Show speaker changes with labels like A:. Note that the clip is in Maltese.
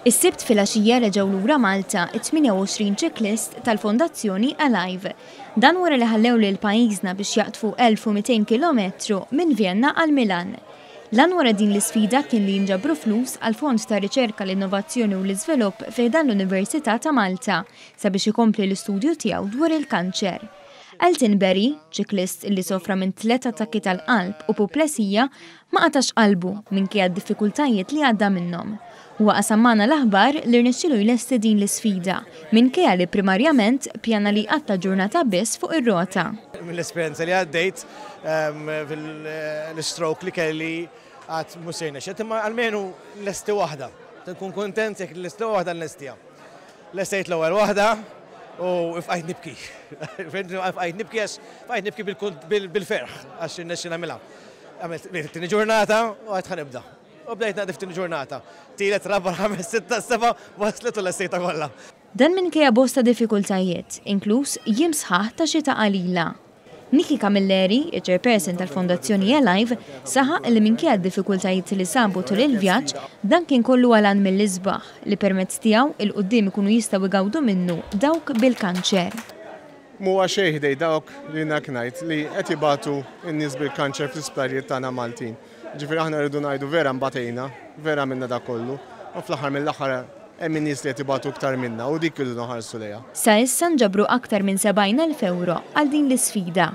A: Is-Sibt filgħaxija reġgħu lura Malta t-28 ċiklist tal-Fondazzjoni Alive. Dan wara li ħallew lil pajjiżna biex jaqdfu 1,200 kilometru minn Vienna għal Milan. L-għan wara din l-isfida kien li jinġabru flus għall-Fond ta' Riċerka, l-Innovazzjoni u l-Iżvilupp fi ħdan l-Università ta' Malta sabiex ikompli l-istudju tiegħu dwar il-kanċer. Elton Berry, ċiklist li sofra minn tliet attakki tal-qalb u puplesija, Ma qatax qalbu minkejja d-diffikultajiet li għadda minnhom. Huwa qasam magħna l-aħbar li rnexxielu jlesti din l-isfida, minkejja li primarjament ppjana li jqatta' ġurnata biss fuq ir-rota.
B: Mill-esperjenza li għaddejt fil-stroke li kelli għad mhux se jirnexxi, imma almenu nlesti waħda. Nkun kuntent jekk nlesti waħda nlestiha. Lestejt l-ewwel waħda u fqajt nibki. Fqajt nibki għax fqajt nibki bil-ferħ għax irnexxi nagħmilha. Għamilt it-tieni ġurnata u għedt ħa nibda. U bdejt naqdi fit-tieni ġurnata. Tielet, raba', ħames, sitta, seba' waslet u lestejtha kollha.
A: Dan minkejja bosta diffikultajiet, inkluż jiem sħaħ ta' xita qalila. Nikki Camilleri, iċ-Chairperson tal-Fondazzjoni Alive, saħaq li minkejja d-diffikultajiet li sabu tul il-vjaġġ, dan kien kollu għal għan mill-isbaħ li permezz tiegħu 'il quddiem ikunu jistgħu jgawdu minnu dawk bil-kanċer.
C: M'huwa xejn ħdej dawk li jiena hekk ngħid li qed ibatu n-nies bil-kanċer fl-isptarijiet tagħna Maltin. Jiġifieri aħna rridu ngħidu vera nbatejna, vera għamilna dak kollu, u fl-aħħar mill-aħħar hemm in-nies li qed ibatu iktar minna u dik irridu nħarsu lejha.
A: Sa issa nġabru aktar minn 70,000 ewro għal din l-isfida.